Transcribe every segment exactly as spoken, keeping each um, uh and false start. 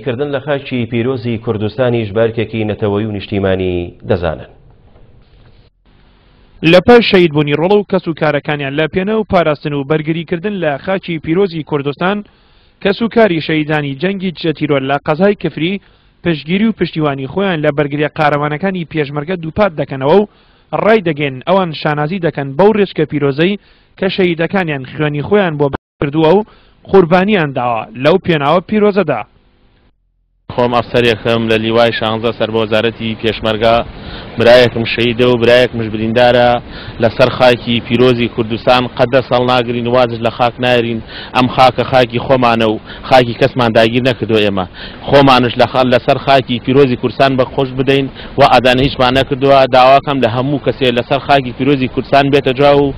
کردن لە خاکی پیرۆزی کوردستانیش بارکێکی نەتەوەیی و نیشتیمانی دەزانن. لە پاش شەهیدبوونی ڕۆڵە و کەس و کارەکانیان لە پێناو و پاراستن و بەرگریکردن لە خاکی پیرۆزی کوردستان، کەس و کاری شەهیدانی جەنگی دژە تیرۆر لە قەزای کفری پشتگیری و پشتیوانی خۆیان لە بەرگریە قارەمانەکانی پێشمەرگە دووپات دەکەنەوە و ڕای دەگەن ئەوان شانازی دەکەن بەو ڕێچکە پیرۆزەی کە شەهیدەکانیان خوێنی خۆیان بۆ کردووە و قوربانیان داوە لەو پێناوە پیرۆزەدا. خۆم ئەفسەرێکم لە لیوای شانزە سەر بە وەزارەتی پێشمەرگە، برایەکم شەهیدە و برایەکمش بریندارە لەسەر خاکی پیرۆزی کوردستان. قەت دەست هەڵناگرین، وازش لە خاک نایرین. ئەم خاکە خاکی خۆمانە و خاکی کەسمان داگیر نەکردو. ئێمە خۆمانش لەسەر خاکی پیرۆزی کوردستان بە خۆش بدەین و ئادانە هیچمان نەکردووە. داواکەم لە هەموو کەسێ لەسەر خاکی پیرۆزی کوردستان بێتە جا و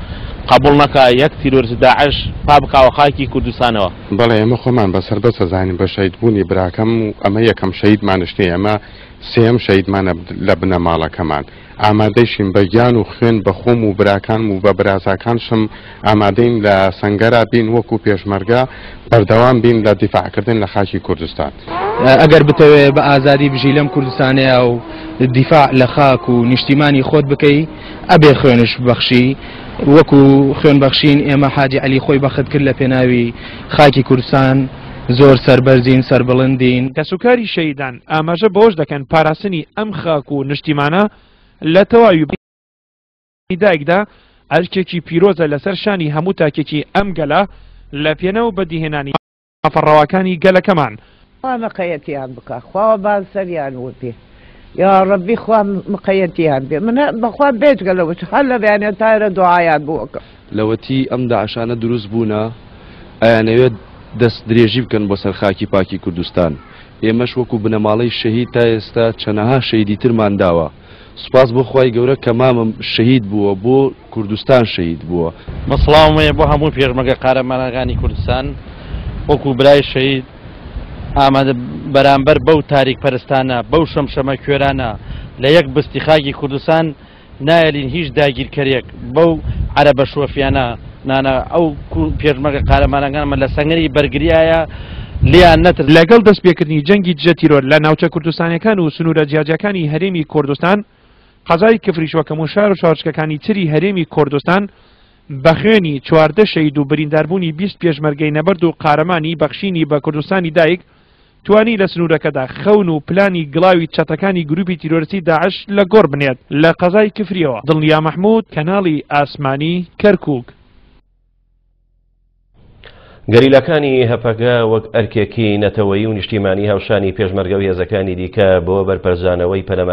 قبول نەکا یەک تیرۆریست داعش پا بکاوە خاکی کوردستانەوە. بەڵێ، ئێمە خۆمان بە سەربەست ئەزانین بە شەهیدبوونی براکەم و ئەمە یەکەم شەهیدمانش نییە، ئەمە سێیەم شەهیدمانە لە بنەماڵەکەمان. ئامادەیشین بە گیان و خوێن بە خۆم و براکانم و بە برازاکانشم ئامادەین لە سەنگەرا بین وەکو پێشمەرگە بەردەوام بین لە دیفاعکردن لە خاکی کوردستان. ئەگەر بتەوێ بە ئازادی بژی لەم کوردستانەیە و دیفاع لە خاک و نیشتیمانی خۆت بکەی، ئەبێ خوێنش ببەخشی. وەکو خوێن بەخشین ئێمە حاجی عەلی خۆی بەخت کرد لە پێناوی خاکی کوردستان. زۆر سەربەرزین، سەربڵندین. کەسوکاری شەهیدان ئاماژە بەوەش دەکەن پاراستنی ئەم خاک و نیشتیمانە لە تەواوی دایکدا ئەرکێکی پیرۆزە لەسەر شانی هەموو تاکێکی ئەم گەلە لە پێناو بەدیهێنانی مافە ڕەواکانی گەلەکەمان. خوا مقەیەتیان بکە، خوا بان سەریان وپێ، یا ڕەبی خوا مقەیەتیان بێ. من بەخوا بێجگە لەوە هەر لە بەیانیان تایرە دوعایان بووەکە. لەوەتی ئەم داعشانە دروست بوونە ئەیانەوێت دەست درێژی بکەن بۆ سەر خاکی پاکی کوردستان. ئێمەش وەکو بنەماڵەی شەهید تا ئێستا چەنەها شەهیدی ترمان داوە. سوپاس بۆ خوای گەورە کە مامم شەهید بووە، بۆ کوردستان شەهید بووە. من سڵاوم هەیە بۆ هەموو پێشمەرگە قارەمانەکانی کوردستان. وەکو برای شەهید ئامادە بەرامبەر بەو تاریک پەرستانە، بەو شەمشەمە کوێرانە لە یەک بستی خاکی کوردستان نایەلین هیچ داگیرکەرێک بەو عەرەبە شۆفیانە نانا. ئەو پێشمەرگە قارەمانەکانمە لە سەنگەری بەرگریایە لیان نەتر. لەگەڵ دەستپێکردنی جەنگی دژە تیرۆر لە ناوچە کوردستانیەکان و سنوورە جیاجیاکانی هەرێمی کوردستان، قەزای کفریش وەکەم و شار و شارۆچکەکانی تری هەرێمی کوردستان بە خوێنی چواردە شەهید و برینداربوونی بیست پێشمەرگەی نەبەرد و قارەمانی بەخشینی بە کوردستانی دایک توانی لە سنوورەکەدا خەون و پلانی گڵاوی چەتەکانی گروپی تیرۆریستی داعش لە گۆڕ بنێت. لە قەزای کفریەوە دڵنیا مەحمود، کەناڵی ئاسمانی کەرکک. گەریلاکانی هەپەگە وەک ئەرکێکی نەتەوەیی و نیشتیمانی هاوشانی پێشمەرگە و هێزەکانی دیکە بۆ بەرپەرچدانەوەی پەلەمە